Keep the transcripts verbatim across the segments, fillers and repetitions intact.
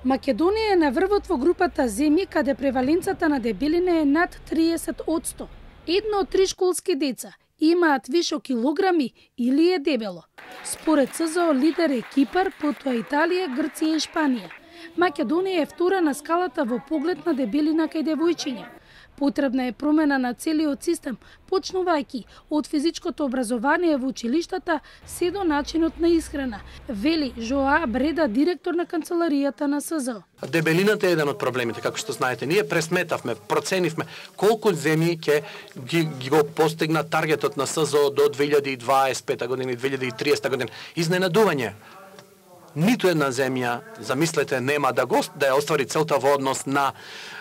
Македонија е на врвот во групата земји каде преваленцата на дебелина е над триесет одсто. Едно од три школски деца имаат вишок килограми или е дебело. Според СЗО лидер е Кипар, потоа Италија, Грција и Шпанија. Македонија е втора на скалата во поглед на дебелина кај девојчиња. Потребна е промена на целиот систем, почнувајќи од физичкото образование во училиштата се до начинот на исхрана, вели Жоа Бреда, директор на канцеларијата на СЗО. Дебелината е еден од проблемите, како што знаете. Ние пресметавме, проценивме колку земји ќе ги, ги го постигна таргетот на СЗО до две илјади и дваесет и пета година и две илјади и триесета година. Изненадување. Ниту една земја, замислете, нема да го да ја оствари целта во однос на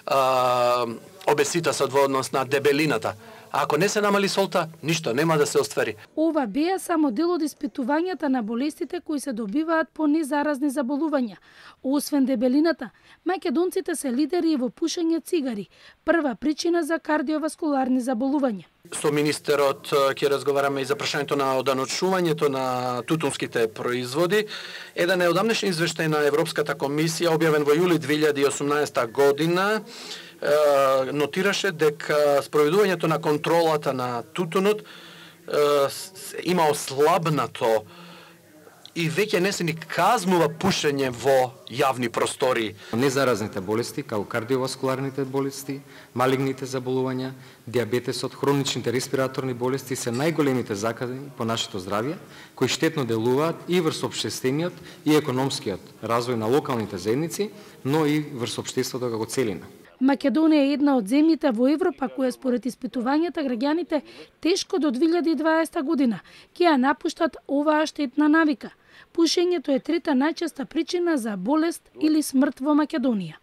е, обеситасот, во однос на дебелината. А ако не се намали солта, ништо нема да се оствари. Ова беа само дел од испитувањата на болестите кои се добиваат по незаразни заболувања. Освен дебелината, македонците се лидери и во пушење цигари, прва причина за кардиоваскуларни заболувања. Со министерот ќе разговараме и за прашањето на оданочувањето на тутунските производи. Еден е одамнешен извештај на Европската комисија, објавен во јули две илјади и осумнаесета година, нотираше дека спроведувањето на контролата на тутунот има ослабнато и веќе не се ни казнува пушење во јавни простори. Незаразните болести, како кардиоваскуларните болести, малигните заболувања, диабетесот, хроничните респираторни болести се најголемите заказни по нашето здравје, кои штетно делуваат и врз општествениот и економскиот развој на локалните заедници, но и врз општеството како целина. Македонија е една од земјите во Европа која според испитувањата граѓаните тешко до две илјади и дваесета година ќе ја напуштат оваа штетна навика. Пушењето е трета најчеста причина за болест или смрт во Македонија.